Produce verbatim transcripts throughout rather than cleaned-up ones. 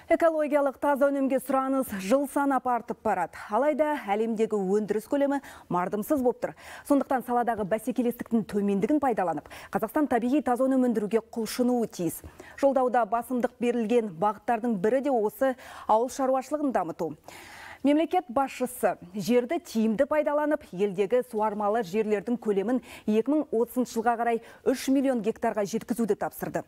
Экологиялық таза өнімге сұраныс жыл санап артып барады. Алайда әлемдегі өндіріс көлемі мардымсыз болып тұр. Сондықтан саладағы бәсекелестіктің төмендігін пайдаланып, Қазақстан табиғи таза өнім өндіруге құлшынуы тиіс. Жолдауда басымдық берілген бағыттардың бірі де осы ауыл шаруашылығын дамыту. Мемлекет басшысы жерді тиімді пайдаланып, елдегі суармалы жерлердің көлемін екі мың отызыншы жылға қарай үш миллион гектарға жеткізуді тапсырды.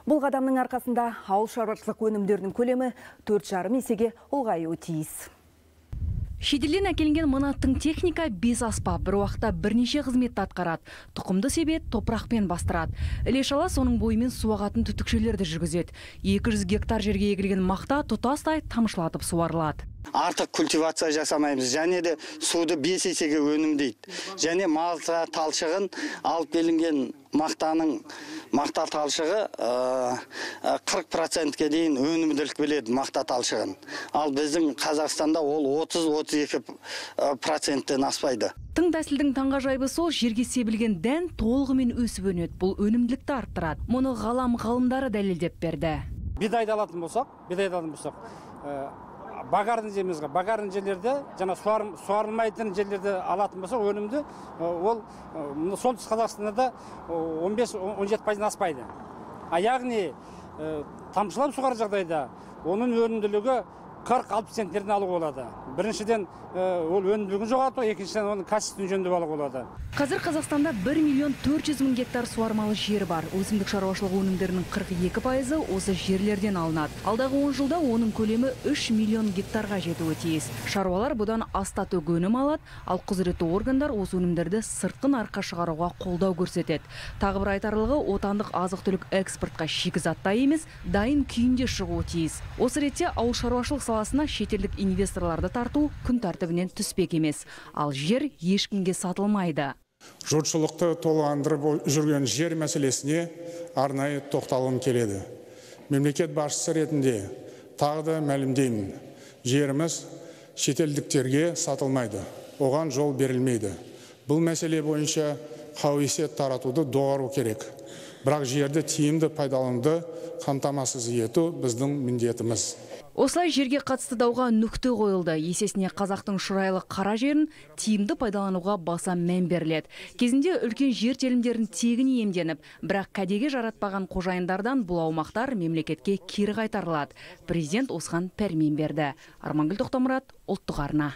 Бұл қадамның арқасында ауыл шаруашылық өнімдерінің көлемі төрт жарым есеге ұлғаюы тиіс. Шетелден әкелінген мынаттың техника бес аспап, бір уақытта бірнеше қызметті атқарады. Тұқымды себет топырақпен бастырады. Іле-шала соның бойымен суағатын түтікшелерді жүргізеді. екі жүз гектар жерге егілген мақта тұтастай тамшылатып суарылады. Артық культивация жасамаймыз, және де суды бес есеге өнімдейді. Және малта талшығын алып келінген мақтаның мақта талшығы қырық процентке дейін өнімділік біледі мақта талшығын. Ал біздің Қазақстанда ол отыз отыз екі проценттен аспайды. Тың тәсілдің таңғажайыбы сол, жерге себілген дән толығымен өсіп өнеді. Бұл өнімділікті арттырады. Мұны ғалам ғалымдары дәлелдеп берді. Бидайды алатын болсақ, бидайды алатын болсақ, багардың жемізге, багардың жерлерде, жана суарылмайтын жерлерде алатын болса, өнімді ол солтүстік Қазақстанда он бес он жеті пайыздан аспайды. А яғни тамшылап суғар жағдайда оның өнімділігі қырық алпыс центнерден алуға болады. Біріншіден ол өнімділігін жоғалту, екіншіден оның качествын жөндеп алуға болады. Қазір Қазақстанда бір миллион төрт жүз мың гектар суармалы жер бар. Өсімдік шаруашылығы өнімдерінің қырық екі пайызы осы жерлерден алынады. Алдағы он жылда оның көлемі үш миллион гектарға жетуі тиіс. Шаруалар бұдан астат өнім алады, ал құзыретті органдар осы өнімдерді сыртқы нарыққа шығаруға қолдау көрсетеді. Тағы бір айтарлығы, отандық азық-түлік экспортқа шикізатта емес, дайын күйінде шығуы тиіс. Осы ретте ауыл шаруашылық саласына шетелдік инвесторларды тарту күн тәртібінен түспек емес. Ал жер ешкімге сатылмайды. Жұртшылықты толғандырып жүрген жер мәселесіне арнайы тоқталғым келеді. Мемлекет басшысы ретінде тағы да мәлімдеймін. Жеріміз шетелдіктерге сатылмайды. Оған жол берілмейді. Бұл мәселе бойынша қауесет таратуды доғару керек. Бірақ жерді тиімді пайдалануды қамтамасыз ету біздің міндетіміз. Осылай жерге қатысты дауға нүкте қойылды. Есесіне қазақтың шұрайлы қара жерін тиімді пайдалануға баса мән беріледі. Кезінде үлкен жер телімдерін тегін иемденіп, бірақ кәдеге жаратпаған қожайындардан бұл аумақтар мемлекетке кері қайтарылады. Президент осыған пәрмен берді. Армангүл Тоқтамұрат, ұлттық арна.